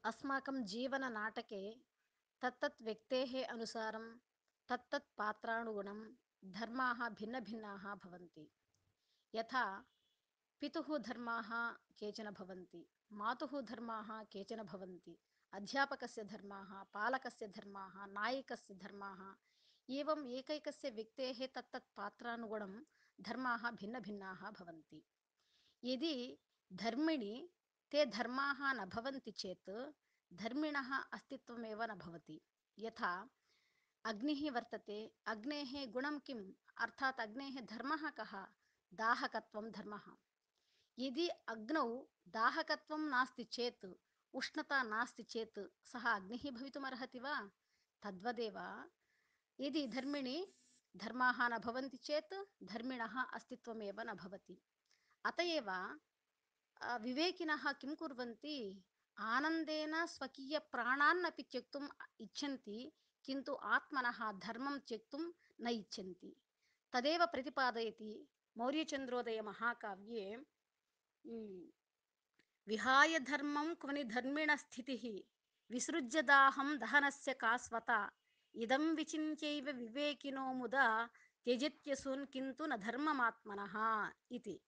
अस्माकं जीवननाटके तत्तत् व्यक्तेः अनुसारं तत्तत् पात्रानुगुणं धर्माः भिन्नभिन्नाः भवन्ति। यथा पितुः धर्माः केचन भवन्ति, मातुः धर्माः केचन भवन्ति, अध्यापकस्य धर्माः, पालकस्य धर्माः, नायकस्य धर्माः, एवम् एकैकस्य व्यक्तेः तत्तत् पात्रानुगुणं धर्माः भिन्नभिन्नाः भवन्ति। यदि धर्मिणि ते धर्माः न भवन्ति चेत् धर्मिणः अस्तित्वमेव न भवति। यथा अग्निः वर्तते, अग्नेः गुणं किम्, अर्थात् अग्नेः धर्मः कः? दाहकत्वं धर्मः। यदि अग्नौ दाहकत्वं नास्ति चेत्, उष्णता नास्ति चेत् सः अग्निः भवितुमर्हति वा? तद्वदेव यदि धर्मिणि धर्माः न भवन्ति चेत् धर्मिणः अस्तित्वमेव न भवति। अत एव विवेकिनः किं कुर्वन्ति? आनन्देन स्वकीयप्राणान्नपि त्यक्तुम् इच्छन्ति, किन्तु आत्मनः धर्मं त्यक्तुं न इच्छन्ति। तदेव प्रतिपादयति मौर्यचन्द्रोदयमहाकाव्ये। विहाय धर्मं क्वनि धर्मिणस्थितिः, विसृज्य दाहं दहनस्य का स्वता, इदं विचिन्त्यैव विवेकिनो मुदा त्यजत्यसून् किन्तु न धर्ममात्मनः इति।